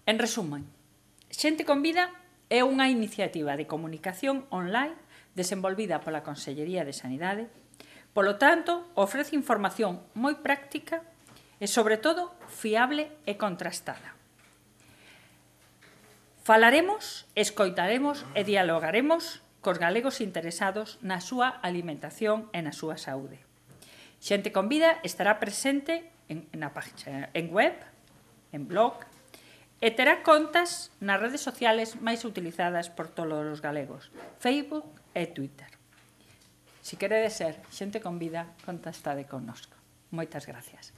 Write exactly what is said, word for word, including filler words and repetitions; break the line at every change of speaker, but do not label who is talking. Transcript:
En resumen, Xente con Vida é unha iniciativa de comunicación online desenvolvida pola Consellería de Sanidade. Polo tanto, ofrece información moi práctica e, sobre todo, fiable e contrastada. Falaremos, escoitaremos e dialogaremos cos galegos interesados na súa alimentación e na súa saúde. Xente con Vida estará presente en, na página, en web, en blog, e terá contas nas redes sociales máis utilizadas por todos os galegos, Facebook e Twitter. Se queredes ser Xente con Vida, contactade connosco. Moitas gracias.